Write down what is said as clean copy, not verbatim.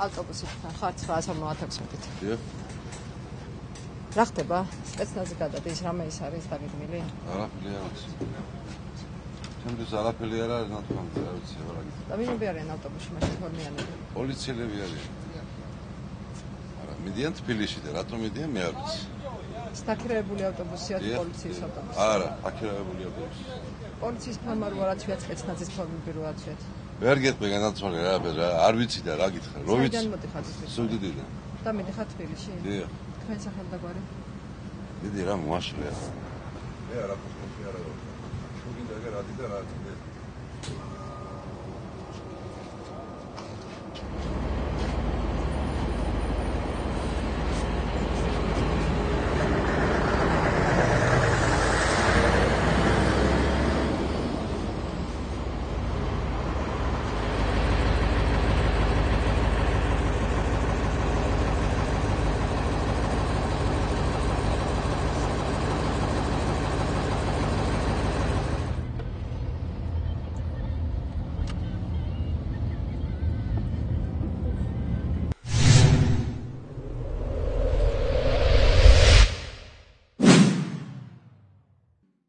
ავტობუსით ხარ 956-ით. დიახ. რა ხდება? სპეცნაზი გადადის, რამე ის არის დაგეგმილი? არაფერი არ არის. ჩემთვის არაფერი არ არის, ნათქვამი, რა ვიცი, რა გითხრა. და ვინები არიან ავტობუსში მაშინ თორმიანები? პოლიციელები არიან. არა, მიდიან თბილისში და რატომ მიდიან მე არ ვიცი. სტაქირებული ავტობუსია თუ პოლიციის ავტობუსი? არა, აქირებული ავტობუსი. პოლიციის ფორმა რო არაცვია, სპეცნაზის ფორმები რო არაცვიათ. ვერ გეტყვი განაცვალე რა, არ ვიცი და რა გითხრა. რო ვიცი. საიდან მოდიხარ თბილისში? სუგდიდიდან. და მიდიხარ თბილისში? დიახ. თქვენ სახელი და გვარი? დიდი რა მოაშლია. მე არაფერს არ ვარ. შუგინდა რა დიდი და რა დიდი.